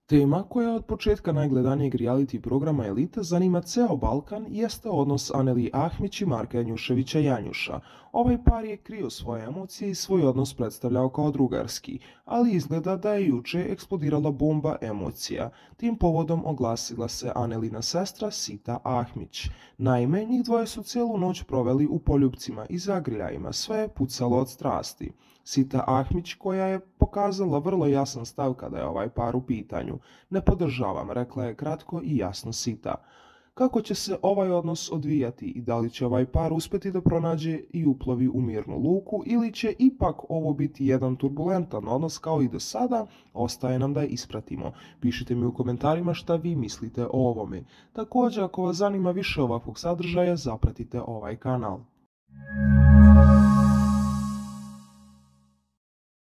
Tema koja je od početka najgledanijeg reality programa Elita zanima ceo Balkan jeste odnos Aneli Ahmić i Marka Janjuševića Janjuša. Ovaj par je krio svoje emocije i svoj odnos predstavljao kao drugarski, ali izgleda da je juče eksplodirala bomba emocija. Tim povodom oglasila se Anelina sestra Sita Ahmić. Naime, njih dvoje su celu noć proveli u poljupcima i zagrljajima, sve je pucalo od strasti. Sita Ahmić, koja je pokazala vrlo jasan stav kada je ovaj par u pitanju. Ne podržavam, rekla je kratko i jasno Sita. Kako će se ovaj odnos odvijati i da li će ovaj par uspeti da pronađe i uplovi u mirnu luku ili će ipak ovo biti jedan turbulentan odnos kao i do sada, ostaje nam da je ispratimo. Pišite mi u komentarima šta vi mislite o ovome. Također, ako vas zanima više ovakvog sadržaja, zapratite ovaj kanal.